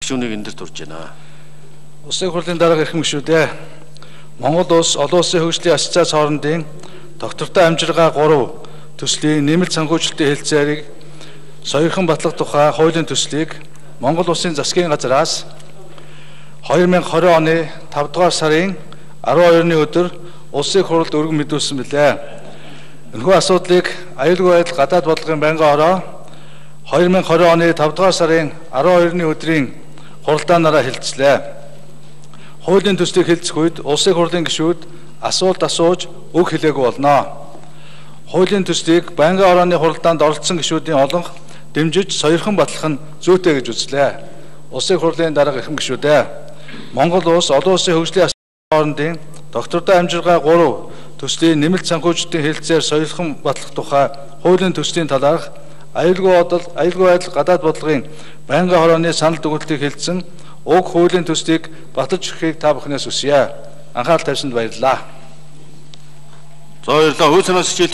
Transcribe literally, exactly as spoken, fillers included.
гишүүнийг энэ дөр турж байна. Улсын хурлын дарга эрхэм гишүүдээ Монгол улс олон улсын хөгжлийн ассоциац хоорондын доктортой амжиргаа гурав төслийн нэмэлт санхүүжилтийн хэлэлцээрийг соёрхон батлах тухай хуулийн төслийг Монгол улсын засгийн газраас две тысячи двадцать оны тавд дугаар сарын арван хоёрны өдөр улсын хурлд өргөн мэдүүлсэн билээ. Энэхүү асуудлыг аюулгүй байдал гадаад бодлогын байнгын ороо две тысячи двадцать оны тавд дугаар сарын арван хоёрны өдрийн хуралдаанаараа хэлэлцлээ. Хуулийн төслийг хэлэлцэх үед улсын хурлын гишүүд асуулт асууж үг хэлээгүй болно. Хуулийн төслийг байнгын орооны хуралдаанд оролцсон гишүүдийн олонх дэмжиж соёрхон батлах нь зүйтэй гэж үзлээ. Улсын хурлын дарга эрхэм гишүүдээ Монгол улс олон улсын хөгжлийн хоорондын доктортой амжиргаа гурав төслийн нэмэлт санхүүжилтийн хэлэлцээр соёрхон батлах тухай хуулийн төслийн талаарх аюулгүй бодол, аюулгүй байдал гадаад бодлогын байнгын хорооны санал дүгнэлтийг хэлсэн уг хуулийн төслийг баталж өгөхийг та бүхнээс хүсье. Анхаарал тавьсанд баярлалаа. За баярлалаа. Хууль санаас хичээл